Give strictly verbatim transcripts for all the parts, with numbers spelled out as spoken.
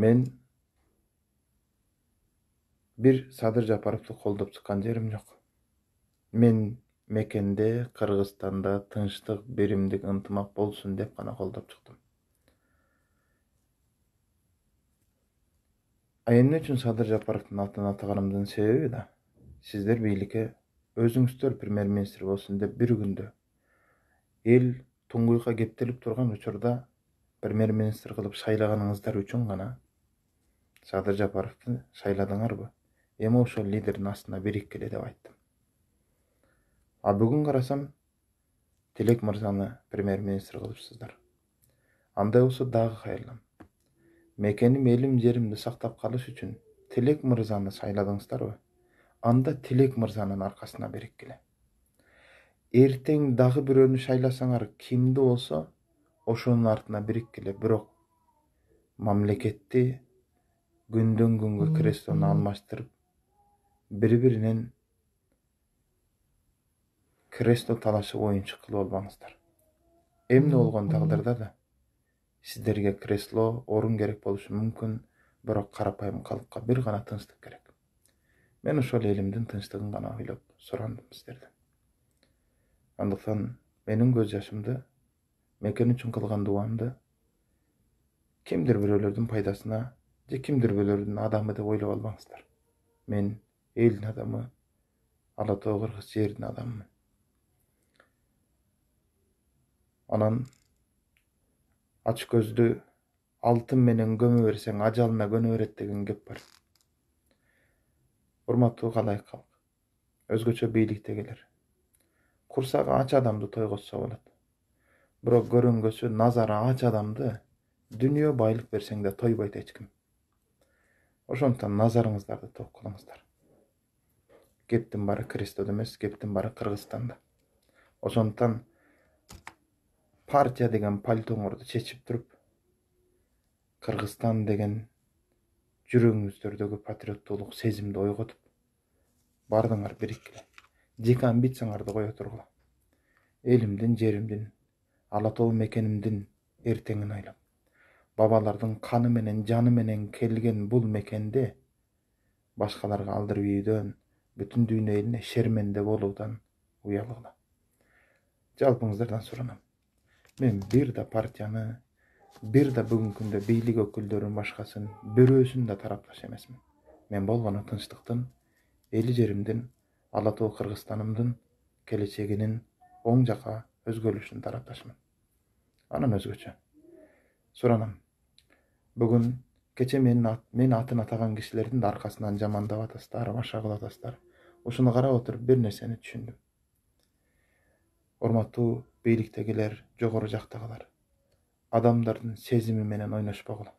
Мен бир Садыр Жапаровду колдоп чыккан жерим жок. Мен мекенде, Кыргызстанда тынчтык, биримдик, ынтымак болсун деп гана колдоп чыктым. А эмне үчүн Садыр Жапаровдун атын атаганымдын себеби да сиздер бийликке өзүңүздөр премьер-министр болсун деп бир күндө эл туңгуйка кептелип турган учурда премьер-министр кылып шайлаганыңыздар үчүн гана Садыр Жапаровду шайладыңарбы? Эми ошол лидердин астына бириккиле деп айттым. А бүгүн карасам, Тилек мырзаны премьер-министр кылыпсыздар. Андай болсо дагы кайрылам. Мекеним, элим, жеримди сактап калыш үчүн Тилек мырзаны шайладыңыздарбы? Анда Тилек мырзанын аркасына бириккиле. Эртең дагы бирөөнү шайласаңар, кимди болсо ошонун артына бириккиле. Бирок мамлекетти күндөн күнгө крестону алмаштырып, бири-биринен кресто талашып оюнчук кылып албаңыздар. Эмне болгон тагдырда да сиздерге кресло, орун керек болушу мүмкүн, бирок карапайым калкка бир гана тынчтык керек. Мен ошол элимдин тынчтыгын гана ойлоп сурандым сиздерден. Андыктан менин көз жашымды, мекен үчүн кылган дуамды кимдир бирөөлөрдүн пайдасына же кимдир бирөөлөрдүн адамы деп ойлоп албаңыздар. Мен элдин адамы, Ала Тоо Кыргыз жердин адамымын. Анан ач көздү алтын менен көмө берсең, ажалына көнө берет деген кеп бар. Урматтуу калайык калк, өзгөчө бийликтегилер. Курсагы ач адамды тойготсо болот. Бирок көрөнгөсү назары ач адамды дүнүйө байлык берсең да тойбойт эч ким. Ошондуктан назарыңыздарды ток кылыңыздар. Кептин баары Крестодо эмес, кептин баары Кыргызстанда. Ошондуктан партия деген пальтоңорду чечип туруп, Кыргызстан деген жүрөгүңүздөрдөгү патриоттуулук сезимди ойготуп, бардыңар бириккиле. Жеке амбицияңарды кое тургула. Элимдин, жеримдин, Ала Тоо мекенимдин эртеңин ойлоп, бабалардын каны менен, жаны менен келген бул мекенде башкаларга алдырып ийүүдөн, бүтүн дүйнө элине шерменде болуудан уялгыла. Жалпыңыздардан суранам. Мен бир да партияны, бир да бүгүнкү күндө бийлик өкүлдөрүн башкасын, бирөөсүн да тарапташ эмесмин. Мен болгону тынчтыктын, эли жеримдин, Ала Тоо Кыргызстанымдын келечегинин оң жака өзгөрүшүнүн тарапташмын. Анан өзгөчө суранам. Бүгүн кече менин ат, мен атын атаган кишилердин да аркасынан жамандап атасыздар, башка кылып атасыздар. Ушуну карап отуруп бир нерсени түшүндүм. Урматтуу бийликтегилер, жогору жактагылар. Адамдардын сезими менен ойношпогула.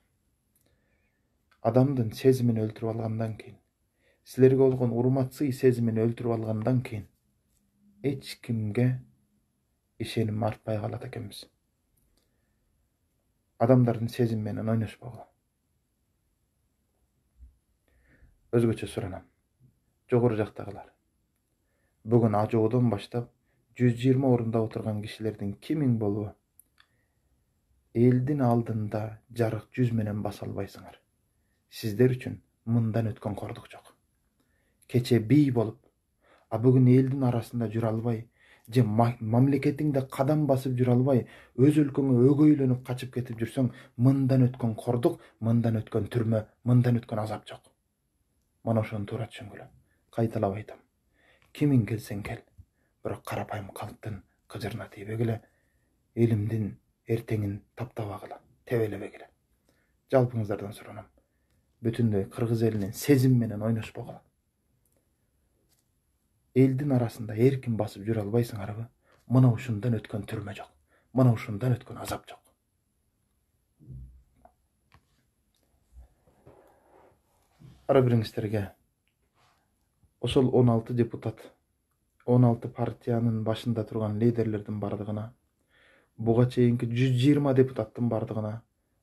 Адамдын сезимин өлтүрүп алгандан кийин, силерге болгон урмат сый сезимин өлтүрүп алгандан кийин эч кимге ишеним артпай калат экенбиз. Адамдардын сезими менен ойношпогула. Өзгөчө суранам. Жогору жактагылар. Бүгүн ажоодон баштап жүз жыйырма орунда отурган кишилердин кимиң болобу элдин алдында жарык жүз менен баса албайсыңар. Сиздер үчүн мындан өткөн кордук жок. Кече бий болуп, а бүгүн элдин арасында жүрө албай, же мамлекетиңде кадам басып жүрө албай, өз өлкөңө өгөйлөнүп качып кетип жүрсөң, мындан өткөн кордук, мындан өткөн түрмө, мындан өткөн азап жок. Мана ошону туура түшүнгүлө. Кайталап айтам. Кимиң келсең кел, бирок карапайым калктын кыжырына тийбегиле, элимдин эртеңин таптабагыла, тебелебегиле. Жалпыңыздардан суранам. Бүтүндөй кыргыз элинин сезим менен ойношпогула. Элдин арасында эркин басып жүрө албайсыңарбы? Мына ушундан өткөн түрмө жок. Мына ушундан өткөн азап жок. Ара бириңиздерге ошол он алты депутат, он алты партиянын башында турган лидерлердин бардыгына, буга чейинки жүз жыйырма депутаттын бардыгына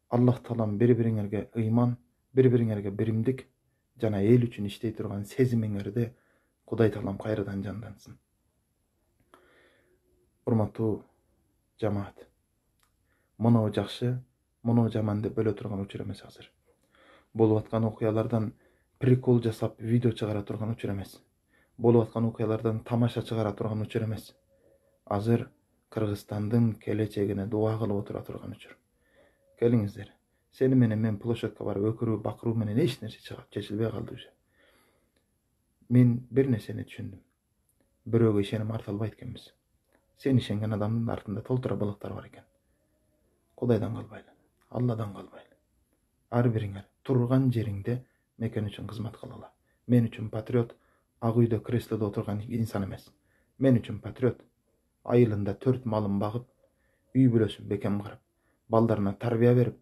Аллах Таалам бири-бириңерге ыйман, бири-бириңерге биримдик жана эл үчүн иштей турган сезимиңерди Кудай Таалам кайрадан жандантсын. Урматтуу жамаат, моноо жакшы, моноо жаман деп бөлө турган учур эмес азыр. болуп аткан окуялардан прикол жасап видео чыгара турган учур эмес. Болуп аткан окуялардан тамаша чыгара турган учур эмес. Азыр Кыргызстандын келечегине дуа кылып отура турган учур. Келиңиздер. Сени менен мен площадка барып өкүрүү, бакыруу менен эч нерсе чечилбей калды уже. Мен бир нерсени түшүндүм. Бирөөгө ишеним арта албайт экенбиз. Сен ишенген адамдын артында толтура былыктар бар экен. Кудайдан калбайлы, Алладан калбайлы. Ар бириңер турган жериңде мекен үчүн кызмат кылгыла. Мен үчүн патриот ак үйдө креслодо отурган инсан эмес. Мен үчүн патриот айылында төрт малын багып, үй бүлөсүн бекем карап, балдарына тарбия берип,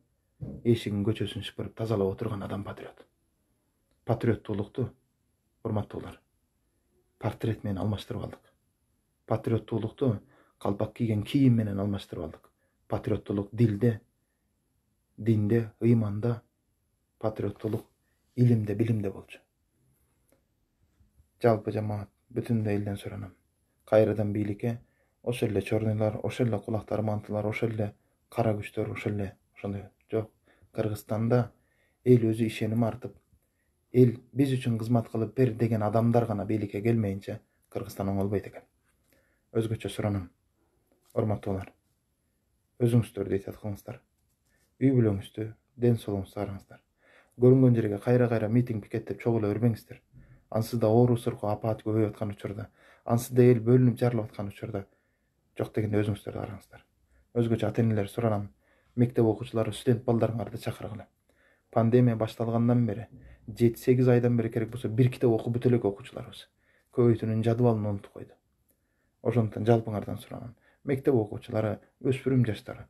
эшигин көчөсүн шыпырып тазалап отурган адам патриот. Патриоттуулукту, урматтуулар, портрет менен алмаштырып алдык. Патриоттуулукту калпак кийген кийим менен алмаштырып алдык. Патриоттуулук дилде, динде, ыйманда, патриоттуулук илимде, билимде болчу. Жалпы жамаат бүтүндөй элден суранам. Кайрадан бийликке ошол эле чорнойлор, ошол эле кулактары мантылар, ошол эле кара күчтөр, ошол эле ошондой жок. Кыргызстанда эл өзү ишеним артып, эл биз үчүн кызмат кылып бер деген адамдар гана бийликке келмейинче Кыргызстан оңолбойт экен. Өзгөчө суранам. Урматтуулар, өзүңүздөрдү ыйт кылыңыздар. Үй бүлөңүздү, ден соолугуңузду караңыздар. Көрүнгөн жерге кайра-кайра митинг пикеттеп чогула бербеңиздер. Ансызда оору сыркоо апаат көбөйүп аткан учурда, ансызда эл бөлүнүп жарылып аткан учурда жок дегенде өзүңүздөрдү караңыздар. Өзгөчө ата энелер суранам. Мектеп окуучулары, студент балдарыңарды чакыргыла. Пандемия башталгандан бери, жети сегиз айдан бери керек болсо бир китеп окуп бүтө элек окуучуларыбыз. Көбөйтүүнүн жадыбалын унутуп койду. Ошондуктан жалпыңардан суранам. Мектеп окуучулары, өспүрүм жаштары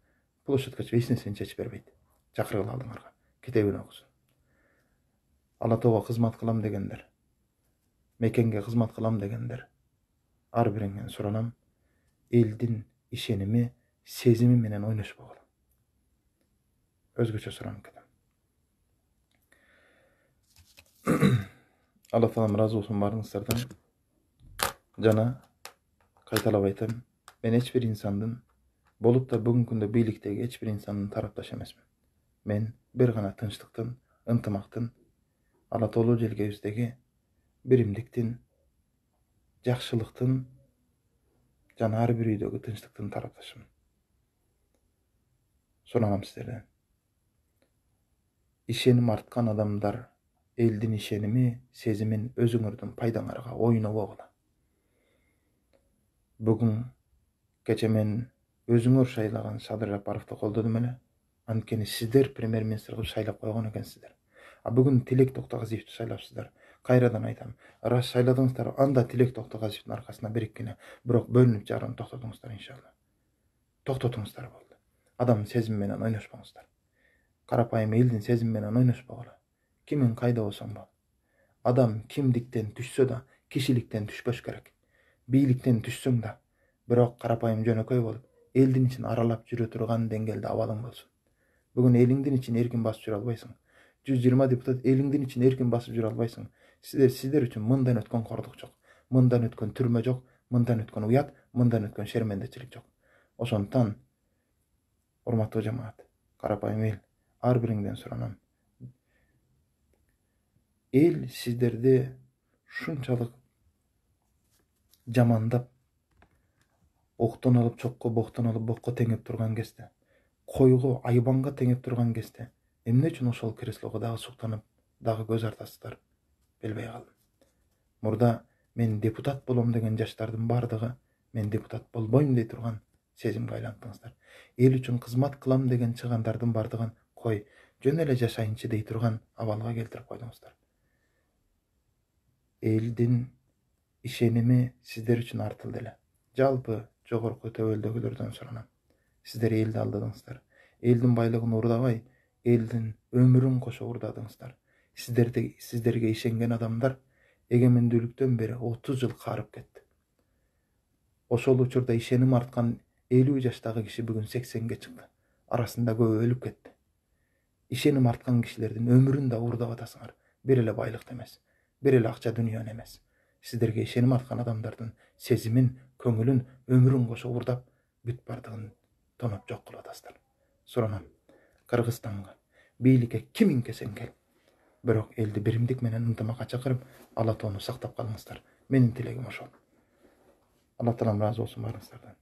площадкачы эч нерсени чечип бербейт. Чакыргыла алдыңарга. Китебин окусун. Ала тоого кызмат кылам дегендер, мекенге кызмат кылам дегендер, ар бириңен суранам, элдин ишеними, сезими менен ойношпогула. Өзгөчө суранып кетем. Алла таалам ыраазы болсун баарыңыздардан. Жана кайталап айтам, мен эч бир инсандын, болуп да бүгүнкү күндө бийликтеги эч бир инсандын тарапташы эмесмин. Мен бир гана тынчтыктын, ынтымактын, ала тоолуу желгебиздеги биримдиктин, жакшылыктын жана ар бир үйдөгү тынчтыктын тарапташымын. Суранам сиздерден. Ишеним арткан адамдар элдин ишеними, сезимин өзүңөрдүн пайдаңарга ойнобогула. Бүгүн кече мен өзүңөр шайлаган Садыр Жапаровду колдодум эле. Анткени сиздер премьер-министр кылып шайлап койгон экенсиздер. А бүгүн Тилек Токтогазиевди шайлапсыздар. Кайрадан айтам, ырас шайладыңыздар, анда Тилек Токтогазиевдин аркасына бириккине, бирок бөлүнүп жарууну токтотуңуздар иншалла. Токтотуңуздар болду. Адамдын сезими менен ойношпоңуздар. Карапайым элдин сезими менен ойношпогула. Кимин кайда болсоң бол. Адам кимдиктен түшсө да, кишиликтен түшпөш керек. Бийликтен түшсөң да, бирок карапайым жөнөкөй болуп, элдин ичин аралап жүрө турган деңгээлде абалың болсун. Бүгүн элиңдин ичин эркин басып жүрө албайсың. жүз жыйырма депутат элиңдин ичин эркин басып жүрө албайсың. Сиздер сиздер үчүн мындан өткөн кордук жок. Мындан өткөн түрмө жок, мындан өткөн уят, мындан өткөн шермендечилик жок. Ошондуктан, урматтуу жамаат, карапайым эл, ар бириңден суранам. Эл сиздерди шунчалык жамандап, октон алып чокко, боктон алып бокко теңеп турган кезде, койго, айбанга теңеп турган кезде, эмне үчүн ошол креслого дагы суктанып, дагы көз артасыздар, билбей калдым. Мурда мен депутат болом деген жаштардын бардыгы мен депутат болбойм дей турган сезимге айлантыңыздар. Эл үчүн кызмат кылам деген чыгандардын бардыгын кой, жөн эле жашайынчы дей турган абалга келтирип койдуңуздар. Элдин ишеними сиздер үчүн артылды эле. Жалпы жогорку төбөлдөгүлөрдөн суранам. Сиздер элди алдадыңыздар. Элдин байлыгын урдабай, элдин өмүрүн кошо урдадыңыздар. Сиздерди сиздерге ишенген адамдар эгемендүүлүктөн бери отуз жыл карып кетти. Ошол учурда ишеним арткан элүү жаштагы киши бүгүн сексенге чыкты. Арасында көбү өлүп кетти. Ишеним арткан кишилердин өмүрүн да урдап атасыңар. Бир эле байлыкты эмес, бир эле акча дүнүйөнү эмес. Сиздерге ишеним арткан адамдардын сезимин, көңүлүн, өмүрүн кошо урдап, бүт бардыгын тоноп жок кылып атасыздар. Суранам, Кыргызстанга бийликке кимиң келсең кел, Бирок элди биримдик менен ынтымакка чакырып, ала тоону сактап калыңыздар. Менин тилегим ошол. Алла таалам ыраазы болсун баарыңыздардан.